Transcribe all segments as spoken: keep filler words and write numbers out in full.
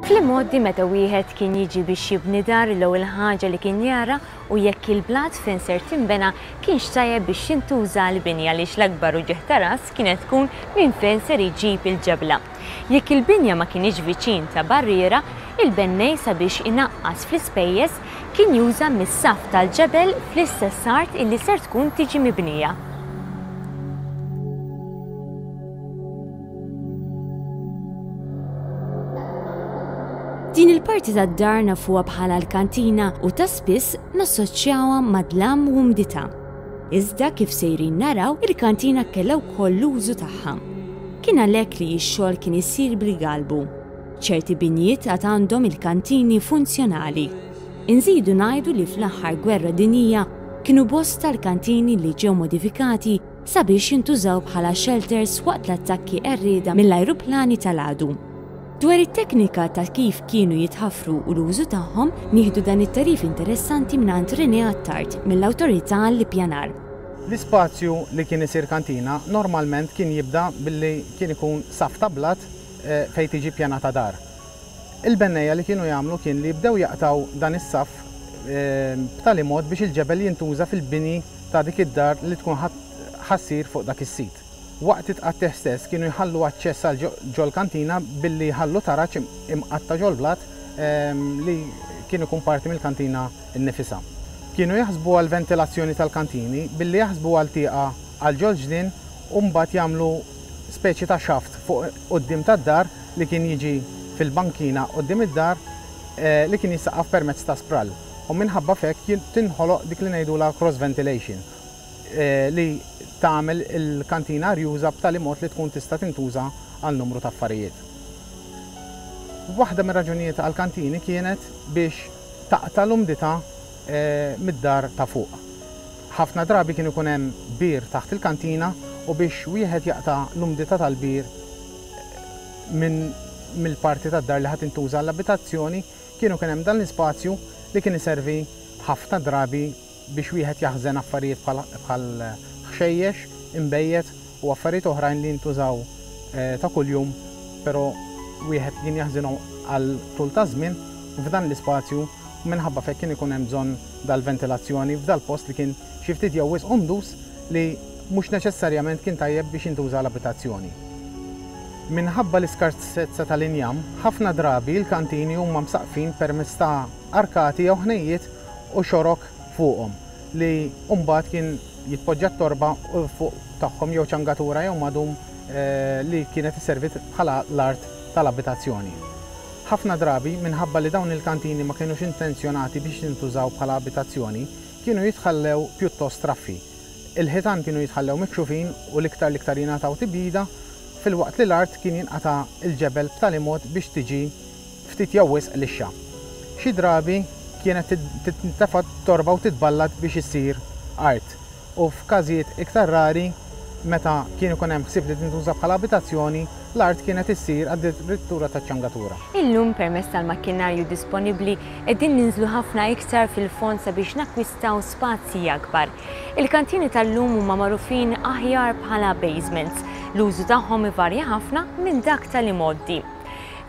Fl-imgħoddi meta wieħed kien jiġi biex jibni dar, l-ewwel ħaġa li kien jara u jekk il-blat fejn ser tinbena kienx tajjeb biex jintuża l-binja, għaliex l-akbar uġigħ ta' ras kienet tkun minn fejn ser iġib il-ġebla. Jekk il-binja ma kienx viċin ta' barriera, il-bennej sabiex inaqqas fl-ispejjeż kien juża mis-saf tal-ġebel fl-istess art illi ser tkun tiġi mibnija. Din il-parti tad-dar nafuha bħala l-kantina u ta' spiss nassoċjawha ma' dlam u umdità. Iżda kif sejrin naraw, il-kantina kellha wkoll l-użu tagħha. Kien għalhekk li x-xogħol kien isir bil-galbu. Ċerti binjiet għad għandhom il-kantini funzjonali. Inżidu ngħidu li fl-aħħar gwerra dinjija kienu bosta l-kantini li ġew modifikati sabiex jintużaw bħala shelters waqt l-attakki qerrieda mill-ajruplani tal-għadu. Dwar it-teknika ta' kif kienu jitħaffru u l-użu tagħhom, nieħdu dan it-tarif interessanti mingħand René Attard mill-Awtorità għall-Ippjanar. L-ispazju li kien isir kantina normalment kien jibda billi kien ikun saf ta' blat fejn tiġi ppjanata dar. Il-bennejja li kienu jagħmlu kien li jibdew jaqtaw dan is-saf b'tali mod biex il-ġebel jintuża fil-bini ta' dik id-dar li tkun ħassir fuq dak is-sit. Waqt it-tqattih stess kienu jħallu aċċess għal ġol-kantina billi jħallu taraġ imqatta' ġol-blat li kien ikun parti mill-kantina nnifisha. Kienu jaħsbu għal ventilazzjoni tal-kantini billi jaħsbu għal tieqa għal ġol-ġnien u mbagħad jagħmlu speċi ta' xaft fuq quddiem tad-dar li kien jiġi fil-bankina quddiem id-dar li kien jissaqqaf permezz ta' sprall. U minħabba f'hekk tinħoloq dik li ngħidulha cross ventilation li tagħmel il-kantina arjuża b'tali mod li tkun tista' tintuża għal numru ta' affarijiet. Waħda mir-raġunijiet għall-kantini kienet biex taqta' l-umdità mid-dar ta' fuq. Ħafna drabi kien ikun hemm bir taħt il-kantina u biex wieħed jaqta' l-umdità tal-bir minn mill-parti tad-dar li ħadd intuża għall-abitazzjoni, kienu kien hemm dan l-ispazju li kien iservi ħafna drabi biex wieħed jaħżen affarijiet bħal ħxejjex, imbejjed u affarijiet oħrajn li jintużaw ta' kuljum, però wieħed kien jaħżinhom għal tul ta' żmien f'dan l-ispazju u minħabba f'hekk kien ikun hemm bżonn dal-ventilazzjoni f'dal-post li kien xi ftit jew wisq umdus li mhux neċessarjament kien tajjeb biex jintuża l-abitazzjoni. Minħabba l-iskarsezza tal-injam, ħafna drabi l-kantini huma msaqfin permezz ta' arkati jew ħnejjiet u xorok fuqhom li mbagħad kien jitpoġġa t-torba u fuq tagħhom jew ċangatura jew madum li kienet isservi bħala l-art tal-abitazzjoni. Ħafna drabi minħabba li dawn il-kantini ma kienux intenzjonati biex jintużaw bħala abitazzjoni, kienu jitħallew pjuttost traffi. Il-ħitan kienu jitħallew mikxufin u l-iktar l-iktar jingħataw tibjida, filwaqt li l-art kien jinqata' il-ġebel b'tali mod biex tiġi ftit jew wisq lixxa. Xi drabi kienet tintefa' torba u titballad biex issir art. U f'każijiet iktar rari, meta kien ikun hemm ħsieb li tintuża bħala abitazzjoni, l-art kienet issir għad-dirittura taċ-ċangatura. Illum permezz tal-makkinarju disponibbli qegħdin ninżlu ħafna iktar fil-fond sabiex nakkwistaw spazji akbar. Il-kantini tal-lum huma magħrufin aħjar bħala basements. L-użu tagħhom ivarja ħafna minn dak tal-imgħoddi.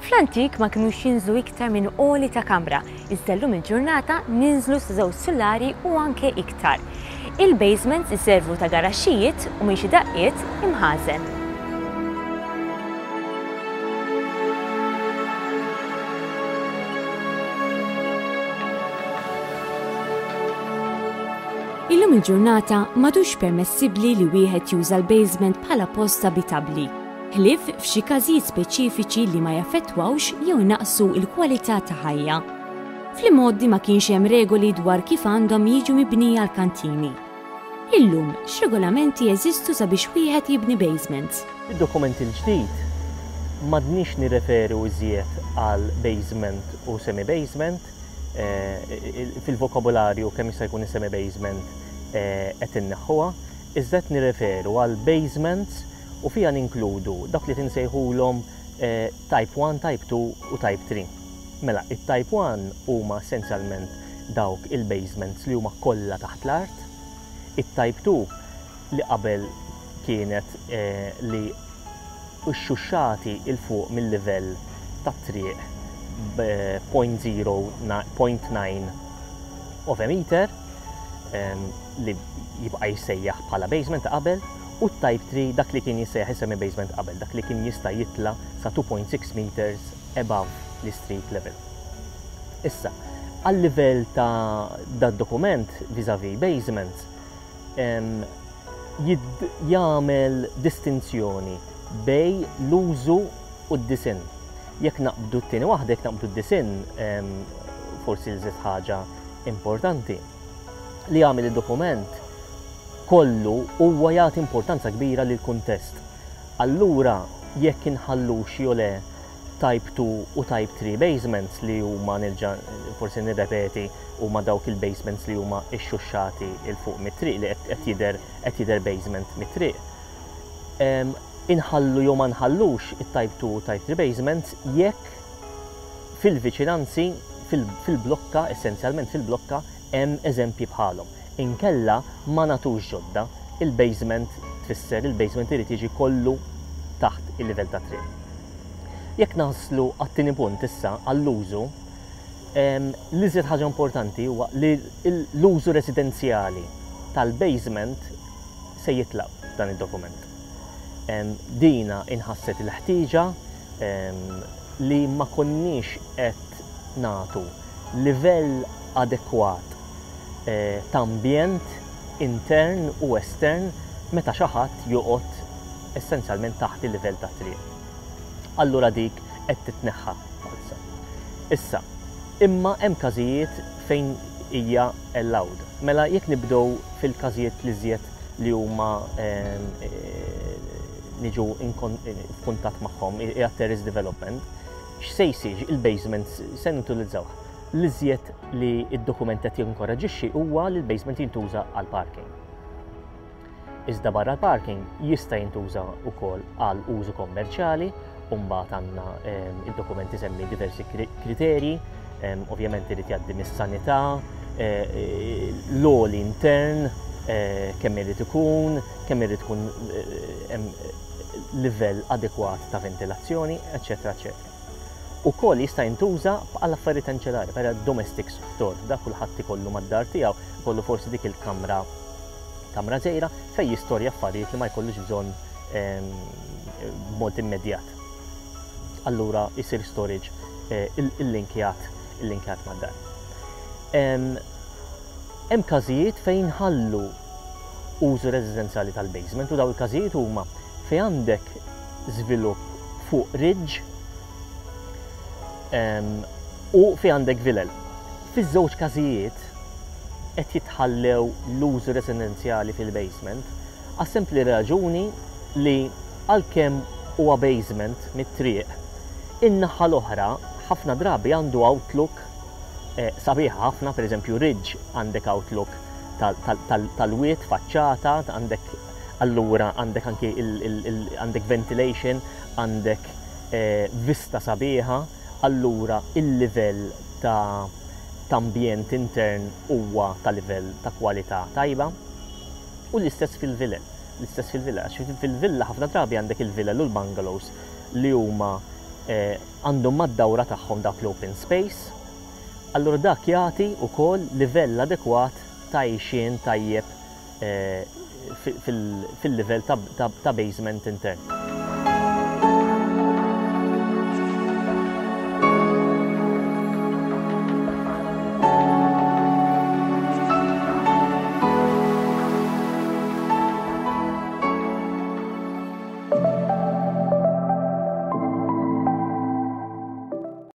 Fl-antik ma kinux jinżlu iktar minn għoli ta' kamra, iżda llum il-ġurnata ninżlu sa żewġ sulari u anke iktar. Il-basements iservu ta' garaxxijiet u minn xi daqqiet imħażen. Illum il-ġurnata m'għadux permessibbli li wieħed juża l-basement bħala post abitabbli, ħlief f'xi każijiet speċifiċi li ma jaffettwawx jew inaqqsu l-kwalità ta' ħajja. Fl-imgħoddi ma kienx hemm regoli dwar kif għandhom jiġu mibnija l-kantini. Illum, x'regolamenti jeżistu sabiex wieħed jibni basements? Id-dokument il-ġdid m'għadniex nirreferu iżjed għal basement u semi-basement. Fil-vokabularju kemm jista' jkun is-semi-basement qed inneħħuha, iżda qed nirreferu għal basements u fiha ninkludu dak li tinsejħulhom type one, type two u type three. Mela, it-type one huma essenzjalment dawk il-basements li huma kollha taħt l-art, it-type two li qabel kienet li xxuxxati il fuq mill-livell tat-triq zero point zero nine of a meter li jibqa' jissejjaħ bħala basement ta' qabel, u type three, dak li kien jissejjaħ semi basement qabel, dak li kien jista' jitla sa two point six meters above the street level. Issa, għal livell ta' dad dokument vis-a-vis basements, jagħmel distinzjoni bejn l-użu u d-disinn. Jekk naqbdu t-tieni waħda, jekk naqbdu d-disinn, forsi l ħaġa importanti li jagħmel id-dokument kollu huwa jagħti importanza kbira lil kuntest. Allura jekk inħallux jew le type two u type three basements, li huma, nerġa' forsi nirrepeti, huma dawk il-basements li huma ixxuxxati 'il fuq mit-triq, li qed jidher qed jidher basement mit-triq. Inħallu jew ma nħallux it-type two u type three basements jekk fil-viċinanzi, fil-blokka, essenzjalment fil-blokka, hemm eżempji bħalhom. Inkella ma nagħtux ġodda, il-basement tfisser il-basement irid jiġi kollu taħt il-livell ta' triq. Jekk naslu għat-tieni punt issa, għall-użu, l-iżjed ħaġa importanti huwa li l-użu residenzjali tal-basement se jitlaq dan id-dokument. Dina inħasset il-ħtieġa li ma konniex qed nagħtu livell adekwat eh, ta' ambjent intern u estern meta xi ħadd joqgħod essenzjalment taħt il-livell ta' triq. Allura dik qed titneħħa falsa. Issa, imma hemm każijiet fejn hija allowed. Mela jekk nibdew fil-każijiet li żjed li huma eh, niġu f'kuntatt magħhom, hija terrace development, x'se jsir? Il-basement se nutilizzaw. L-iżjed li id-dokument qed jinkoraġixxi huwa li l-basement jintuża għal parking. Iżda barra l-parking jista' jintuża wkoll għal użu kommerċjali, u mbagħad għandna id-dokument isemmi diversi kriterji, ovvjament irid jgħaddi mis-sanità, eh, eh, l-għoli intern, eh, kemm irid ikun, kemm irid ikun livell adekwat ta' ventilazzjoni, eċetera, eċetera. Ukoll jista' jintuża għal affarijiet anċellari, per domestic store, da kulħadd ikollu mad-dar tiegħu, kollu forsi dik il-kamra kamra żgħira fejn jistorja affarijiet li ma jkollux bżonn b'mod immedjat. Allura jisir storage eh, il-linkjat il-linkjat mad-dar. Hemm każijiet fejn ħallu użu residenzjali tal-basement, u daw il-każijiet huma fejn għandek żvilupp fuq ridge u fejn għandek vilel. Fiż-żewġ każijiet qed jitħallew l-użu residenzjali fil-basement għas-sempli raġuni li għalkemm huwa basement mit-triq, in-naħa l-oħra ħafna drabi għandu outlook eh, sabiħa ħafna, per eżempju ridge għandek outlook tal-wied, faċċata, għandek allura għandek anki għandek ventilation, għandek eh, vista sabiħa, allura il-livell ta' ambjent intern huwa ta' livell ta' kwalità tajba. U l-istess fil-villa. L-istess fil-villa. Fil-villa ħafna drabi għandek il-villa u l-bungalows li huma eh, għandhom mad-dawra tagħhom dak l-open space. Allura dak jagħti wkoll livell adekwat ta' għixien tajjeb eh, fil-livell ta' basement intern.